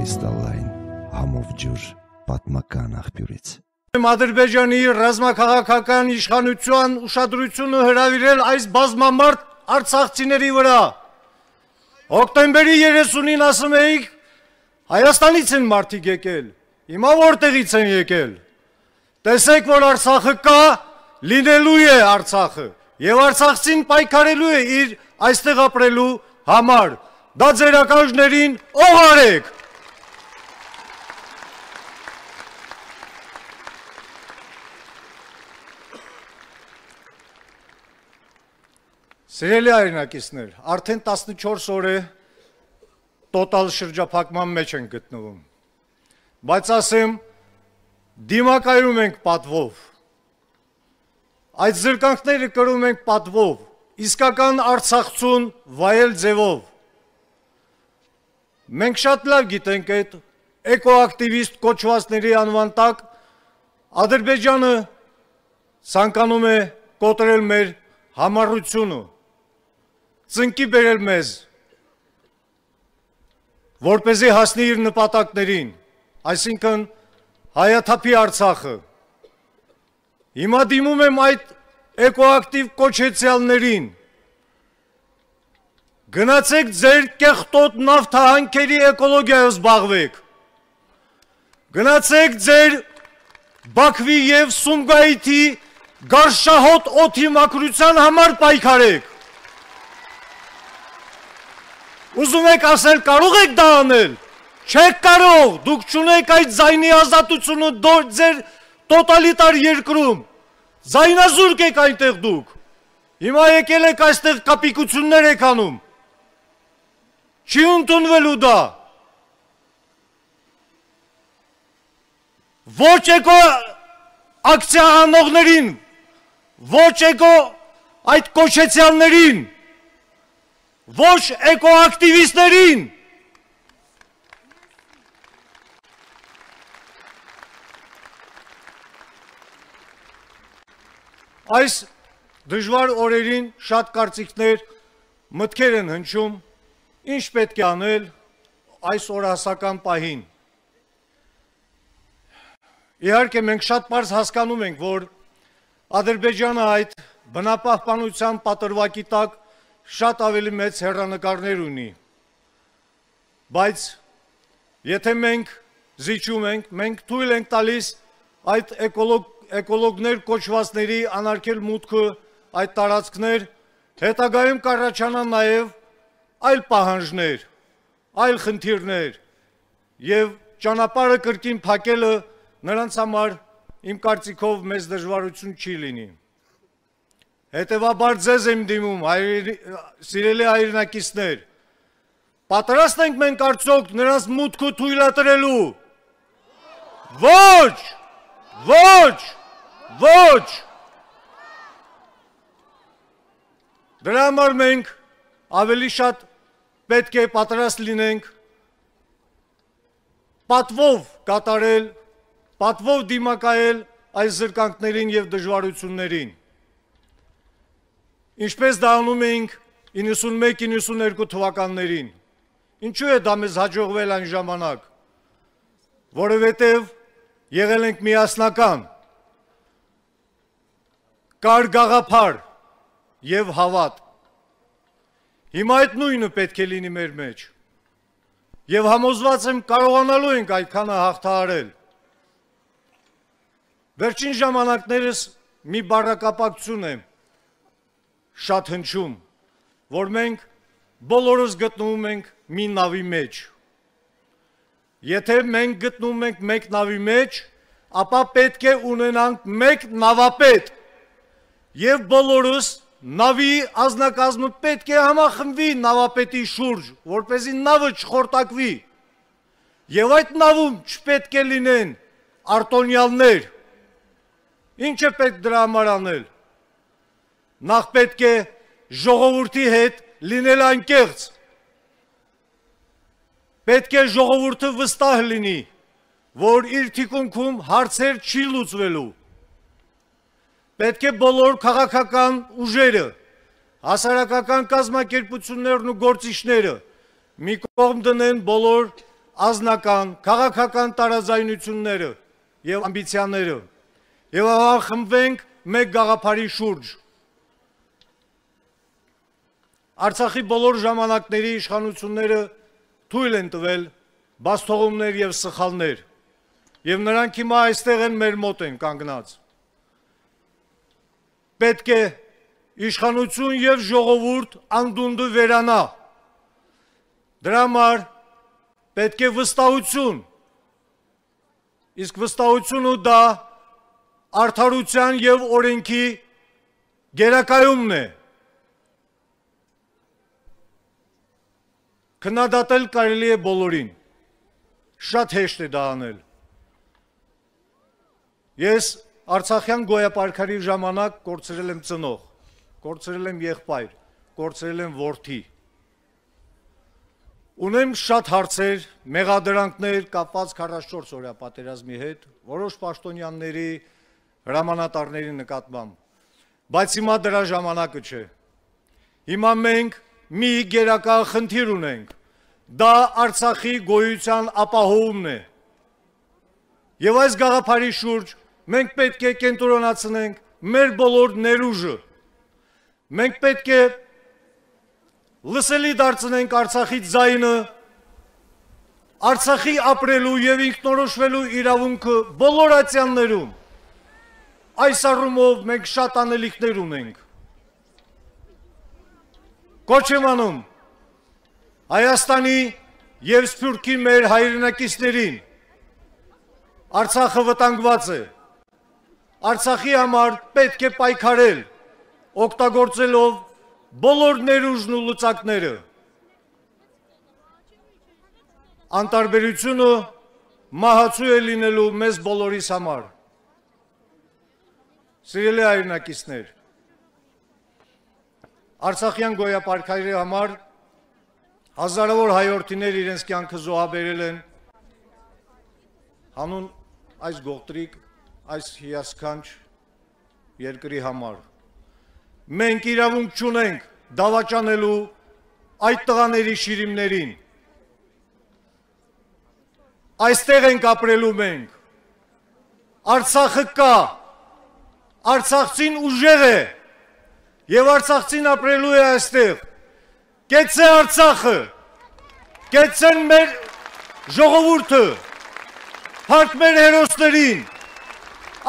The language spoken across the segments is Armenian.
կրիստալային համով ջուր պատմական աղբյուրից։ Ադրբեջանի ռազմաքաղաքական իշխանության ուշադրությունը հրավիրել այս բազմամարդ արցախցիների վրա։ Հոկտեմբերի 30-ին ասում էիք Հայաստանից են մարդիկ եկել, հիմա որտեղից են եկել։ Տեսեք, որ Արցախը կա, լինելու է Արցախը, եւ արցախցին պայքարելու է իր այստեղ ապրելու համար։ Դա ձեր ականջներին օղարեք։ Սիրելի հայրենակիցներ, արդեն 14 օր է տոտալ շրջափակման մեջ են գտնվում, բայց ասեմ, դիմակայում ենք պատվով, այդ զրկանքները կրում ենք պատվով, իսկական արցախցուն վայել ձևով։ Մենք շատ լավ գիտենք այդ էկոակտիվիստ կոչվածների անվան տակ Ադրբեջանը ցանկանում է կոտրել մեր համառությունը, ծնկի բերել մեզ, որպեսզի հասնի իր նպատակներին, այսինքն հայաթափի Արցախը։ Հիմա դիմում եմ այդ էկոակտիվ կոչեցյալներին, գնացեք ձեր կեղտոտ նավթահանքերի էկոլոգիայով զբաղվեք, գնացեք ձեր Բաքվի և Սումգայիթի գարշահոտ օդի մաքրության համար պայքարեք։ Ուզում եք ասել, կարող եք դա անել, չեք կարող, դուք չունեք այդ ձայնի ազատությունը ձեր տոտալիտար երկրում, ձայնազուրկ եք այնտեղ դուք, հիմա եկել եք այստեղ կապիկություններ եք անում, չի ընդունվելու դա, ոչ էկո ակցիա անողներին, ոչ էկո այդ կոչեցյալներին, ոչ էկոակտիվիստներին, այս դժվար օրերին շատ կարծիքներ, մտքեր են հնչում, ինչ պետք է անել այս օրահասական պահին։ Իհարկե մենք շատ պարզ հասկանում ենք, որ Ադրբեջանը այդ բնապահպանության պատրվակի տակ շատ ավելի մեծ հեռանկարներ ունի, բայց եթե մենք զիջում ենք, մենք թույլ ենք տալիս այդ էկոլոգներ կոչվածների անարգել մուտքը այդ տարածքներ, հետագայում կառաջանան նաև այլ պահանջներ, այլ խնդիրներ և ճանապարհը կրկին փակելը նրանց համար իմ կարծիքով մեծ դժվարություն չի լինի։ Հետևաբար ձեզ եմ դիմում, սիրելի հայրենակիցներ, պատրաստ ենք մենք արդյոք նրանց մուտքը թույլատրելու։ Ոչ, ոչ, ոչ։ Դրա համար մենք ավելի շատ պետք է պատրաստ լինենք պատվով կատարել, պատվով դիմակայել այս զրկանքներին և դժվարություններին։ Ինչպես դա անում էինք 91-92 թվականներին։ Ինչու է դա մեզ հաջողվել այն ժամանակ, որովհետև եղել ենք միասնական, կար գաղափար և հավատ։ Հիմա այդ նույնը պետք է լինի մեր մեջ, և համոզված եմ կարողանալու ենք այդքանը հաղթահարել։ Վերջին ժամանակներս մի բառակապակցություն է շատ հնչում, որ մենք բոլորս գտնվում ենք մի նավի մեջ։ Եթե մենք գտնվում ենք մեկ նավի մեջ, ապա պետք է ունենանք մեկ նավապետ, և բոլորս նավի ազնագազմը պետք է համախմբվի նավապետի շուրջ, որպեսզի նավը չխորտակվի, և այդ նավում չպետք է լինեն արտոնյալներ։ Ինչ է պետք դրա համար անել։ Նախ պետք է ժողովրդի հետ լինել անկեղծ, պետք է ժողովուրդը վստահ լինի, որ իր թիկունքում հարցեր չի լուծվելու, պետք է բոլոր քաղաքական ուժերը, հասարակական կազմակերպություններն ու գործիչները մի կողմ դնեն բոլոր ազնական, քաղաքական տարաձայնությունները եւ ամբիցիաները եւ համախմբվենք մեկ գաղափարի շուրջ։ Արցախի բոլոր ժամանակների իշխանությունները թույլ են տվել բաստողումներ եւ սխալներ եւ նրանք հիմա այստեղ են մեր մոտ են կանգնած։ Պետք է իշխանություն եւ ժողովուրդ անդունդը վերանա։ Դրա համար պետք է վստահություն, իսկ վստահությունը դա արդարության եւ օրենքի գերակայումն է։ Քննադատել կարելի է բոլորին, շատ հեշտ է դա անել։ Ես Արցախյան գոյապարքարի ժամանակ կորցրել եմ ծնող, կորցրել եմ եղբայր, կորցրել եմ որդի։ Ունեմ շատ հարցեր, մեղադրանքներ կապված 44 օրյա պատերազմի հետ, որոշ պաշտոնյաների, հրամանատարների նկատմամբ, բայց հիմա դրա ժամանակը չէ։ Հիմա մենք մի գերակա խնդիր ունենք, դա Արցախի գոյության ապահովումն է։ Եվ այս գաղափարի շուրջ մենք պետք է կենտրոնացնենք մեր բոլոր ներուժը։ Մենք պետք է լսելի դարձնենք Արցախի ձայնը, Արցախի ապրելու եւ ինքնորոշվելու իրավունքը բոլոր ատյաններում։ Այս առումով մենք շատ անելիքներ ունենք։ Կոչ եմ անում Հայաստանի եւ Սփյուռքի մեր հայրենակիցներին, Արցախը վտանգված է։ Արցախի համար պետք է պայքարել, օգտագործելով բոլոր ներուժն ու լծակները։ Անտարբերությունը մահացու է լինելու մեզ բոլորիս համար։ Սիրելի հայրենակիցներ, Արցախյան գոյապարքարի համար հազարավոր հայորդիներ իրենց կյանքը զոհաբերել են հանուն այս գողտրիկ, այս հիասքանչ երկրի համար։ Մենք իրավունք չունենք դավաճանելու այդ տղաների շիրիմներին։ Այստեղ ենք ապրելու մենք։ Արցախը կա, արցախցին ուժեղ է եւ արցախցին ապրելու է այստեղ։ Կեցե Արցախը, կեցեն մեր ժողովուրդը, հարկ մեր հերոսներին,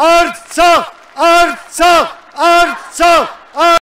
Արցախ, Արցախ, Արցախ,